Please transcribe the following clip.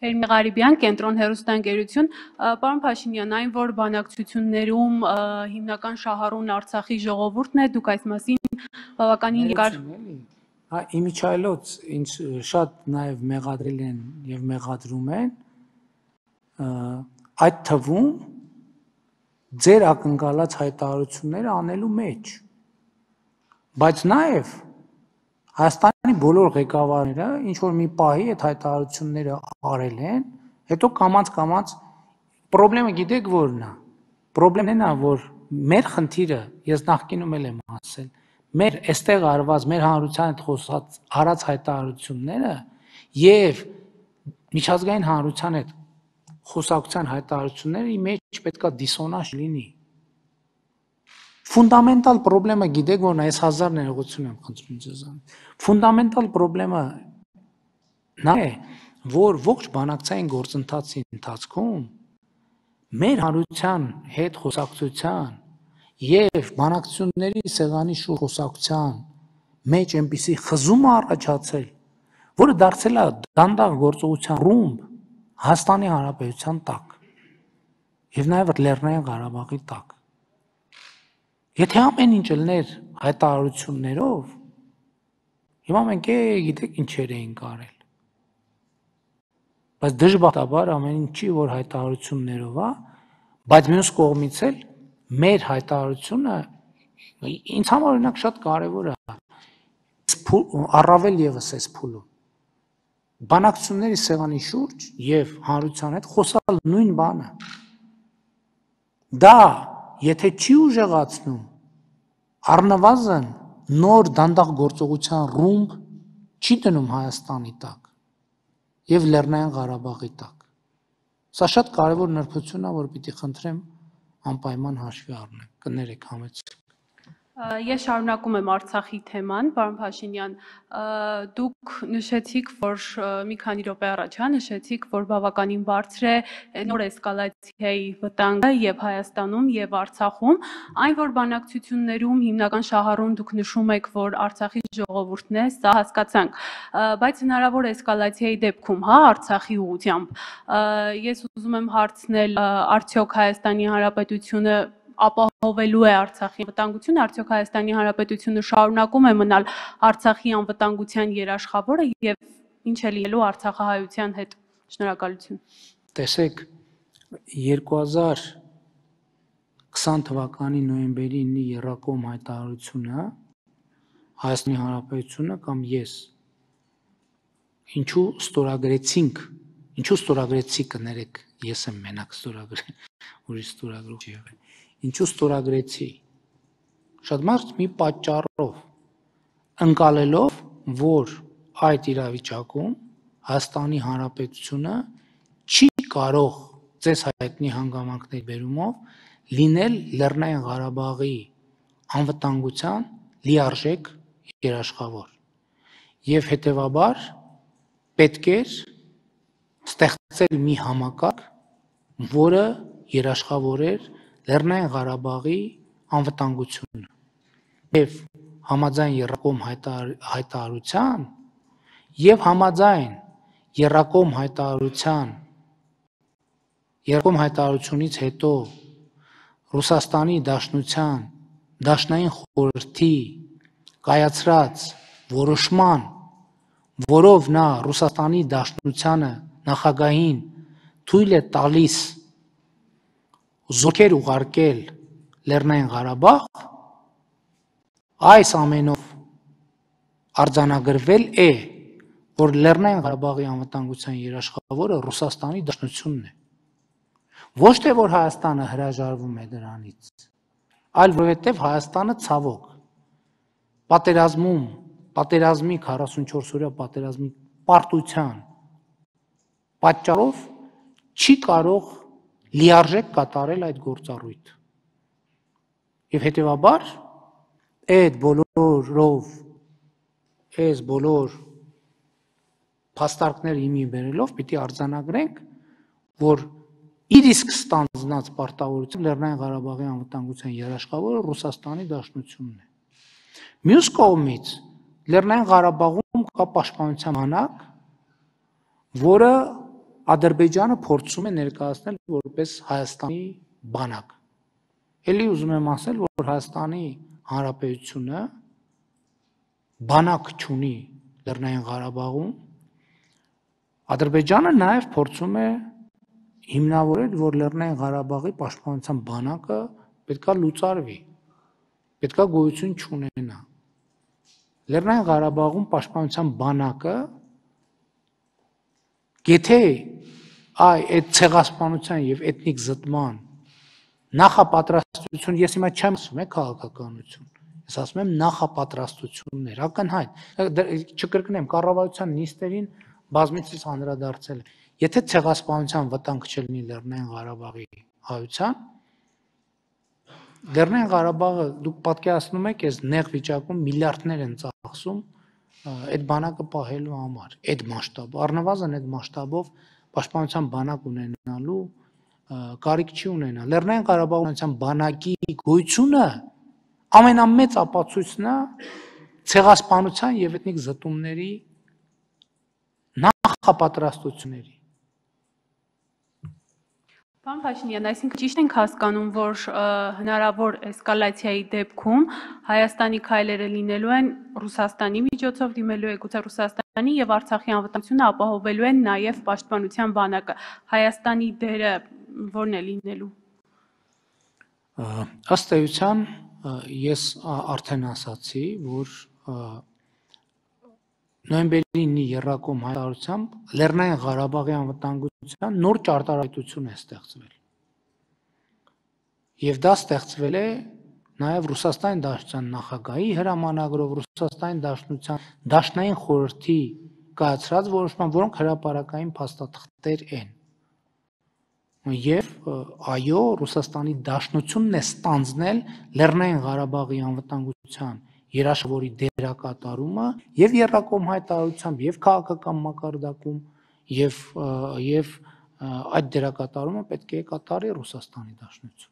Էրմի Ղարիբյան, Կենտրոն հեռուստաընկերություն, պարոն Փաշինյան, այն որ բանակցություններում հիմնական շահառուն Արցախի ժողովուրդն է, դուք այս մասին բավականին երկար Իմիջայլոց ինձ շատ նաև մեղադրել են եւ մեղադրում են այդ թվում ձեր ակնկալած հայտարարությունները անելու մեջ, բայց նաև Հայաստանի բոլոր ղեկավարները ինչ որ մի պահի այդ հայտարարությունները արել են, հետո կամաց պրոբլեմը գիտեք որն է։ Պրոբլեմն է, որ մեր խնդիրը, ես նախկինում եմ ասել, մեր այստեղ արված, մեր հանրության հետ խոսած արած հայտարարությունները եւ միջազգային հանրության հետ խոսակցության հայտարարությունների մեջ պետքա դիսոնանս լինի։ Ֆունդամենտալ պրոբլեմը գիտեք որն է, այս 1000 ներողություն եմ խնդրում ձեզանից։ Ֆունդամենտալ պրոբլեմը նա է, որ ողջ բանակցային գործընթացի ընթացքում մեր հանրության հետ խոսակցության եւ բանակցությունների սեղանի շուրջ խոսակցության մեջ այնպիսի խզում է առաջացել, որը դարձել է դանդաղ գործողության ռումբ Հայաստանի Հանրապետության տակ եւ նաեւ Լեռնային Ղարաբաղի տակ։ Եթե ամեն ինչ ելներ հայտարարություններով, հիմա մենք գիտեք ինչեր էինք արել։ Բայց դժբախտաբար ամեն ինչի որ հայտարարություններով է, բայց մյուս կողմից էլ մեր հայտարարությունը ինձ համար օրինակ շատ կարևոր է։ Առավել եւս այս փուլում բանակցությունների սեղանի շուրջ եւ հանրության հետ խոսալ նույն բանը։ Դա եթե չի ուժեղացնում, առնվազն նոր դանդաղ գործողության ռումբ չի դնում Հայաստանի տակ եւ Լեռնային Ղարաբաղի տակ։ Սա շատ կարևոր նրբություն է, որ պիտի խնդրեմ անպայման հաշվի առնեք, կներեք համեցեք։ Ես շարունակում եմ Արցախի թեման, պարոն Փաշինյան, դուք նշեցիք, որ մի քանի րոպե առաջ նշեցիք, որ բավականին բարձր է նոր էսկալացիայի վտանգը եւ Հայաստանում եւ Արցախում, այն որ բանակցություններում հիմնական շահառուն դուք նշում եք, որ Արցախի ժողովուրդն է, սա հասկացանք, բայց հնարավոր էսկալացիայի դեպքում, Արցախի ուղղությամբ, ես ուզում եմ հարցնել, արդյոք Հայաստանի Հանրապետությունը ապահովելու է Արցախի անվտանգությունը, արդյոք Հայաստանի Հանրապետությունը շարունակում է մնալ Արցախի անվտանգության երաշխավորը եւ ինչ է լինելու արցախահայության հետ։ Շնորհակալություն։ Տեսեք, 2020 թվականի նոյեմբերի 9-ի Եռակոմ հայտարարությունը Հայաստանի Հանրապետությունը կամ ես ինչու ստորագրեցի կներեք, ես եմ մենակ ստորագրել, ուրիշ ստորագրող չի եղել։ Ինչու ստորագրեցի։ Շատ մարդ մի պատճառով ընկալելով, որ այդ իրավիճակում Հայաստանի Հանրապետությունը չի կարող ձեզ հայտնի հանգամանքների բերումով լինել Լեռնային Ղարաբաղի անվտանգության լիարժեք երաշխավոր։ Եվ հետևաբար պետք էր ստեղծել մի համակարգ, որը երաշխավորեր Լեռնային Ղարաբաղի անվտանգությունը։ Եվ համաձայն Եռակոմ հայտարարության եւ համաձայն Եռակոմ հայտարարությունից հետո Ռուսաստանի Դաշնության Դաշնային խորհրդի կայացրած որոշման, որով նա Ռուսաստանի Դաշնությանը նախագահին թույլ է տալիս զորքեր ուղարկել Լեռնային Ղարաբաղ, այս ամենով արձանագրվել է, որ Լեռնային Ղարաբաղի անվտանգության երաշխավորը Ռուսաստանի Դաշնությունն է։ Ոչ թե որ Հայաստանը հրաժարվում է դրանից, այլ որովհետև Հայաստանը ցավոք պատերազմի 44-օրյա պատերազմի պարտության պատճառով չի կարող լիարժեք կատարել այդ գործառույթը։ Եվ հետևաբար այդ բոլոր փաստարկները հիմի բերելով պիտի արձանագրենք, որ իր իսկ ստանձնած պարտավորությամբ Լեռնային Ղարաբաղի անվտանգության երաշխավորը Ռուսաստանի Դաշնությունն է։ Մյուս կողմից Լեռնային Ղարաբաղում կա պաշտպանության բանակ, որը Ադրբեջանը փորձում է ներկայացնել որպես Հայաստանի բանակ։ Էլի ուզում եմ ասել, որ Հայաստանի Հանրապետությունը բանակ չունի Լեռնային Ղարաբաղում։ Ադրբեջանը նաև փորձում է հիմնավորել, որ Լեռնային Ղարաբաղի պաշտպանության բանակը պետքա լուծարվի, պետքա գոյություն չունենա։ Լեռնային Ղարաբաղում պաշտպանության բանակը եթե այդ ցեղասպանության եւ էթնիկ զտման նախապատրաստություն, ես հիմա չեմ ասում քաղաքականություն, ես ասում եմ նախապատրաստություններ, ակնհայտ, չկրկնեմ, կառավարության նիստերին բազմիցս անդրադարձել է։ Եթե ցեղասպանության վտանգ չլինի Լեռնային Ղարաբաղի հայության, Լեռնային Ղարաբաղը դուք պատկերացնում եք, այս նեղ վիճակում միլիարդներ են ծախսում այդ բանակը պահելու համար, այդ մասշտաբով, առնվազն այդ մասշտաբով պաշտպանության բանակ ունենալու կարիք չի ունենա։ Լեռնային Ղարաբաղության բանակի գոյությունը ամենամեծ ապացույցն է ցեղասպանության եւ էթնիկ զտումների նախապատրաստությունների։ Պարոն Փաշինյան, այսինքն ճիշտ ենք հասկանում, որ հնարավոր էսկալացիայի դեպքում Հայաստանի քայլերը լինելու են Ռուսաստանի միջոցով դիմելու է գուցե Ռուսաստանի եւ Արցախի անվտանգությունը ապահովելու են նաեւ պաշտպանության բանակը։ Հայաստանի դերը ո՞րն է լինելու։ Ըստ էության ես արդեն ասացի, որ նոյեմբերի 9-ի եռակոմ հայտարարությամբ Լեռնային Ղարաբաղի անվտանգության նոր ճարտարապետություն է ստեղծվել։ Եվ դա ստեղծվել է նաև Ռուսաստանի Դաշնության նախագահի հրամանագրով, Ռուսաստանի Դաշնության Դաշնային խորհրդի կայացրած որոշման, որոնք հրապարակային փաստաթղթեր են։ Եվ այո, Ռուսաստանի Դաշնությունն է ստանձնել Լեռնային Ղարաբաղի անվտանգության երաշխավորի դերակատարումը եւ եռակոմ հայտարարությամբ եւ քաղաքական մակարդակում եւ այդ դերակատարումը պետք է կատարի Ռուսաստանի Դաշնությունը։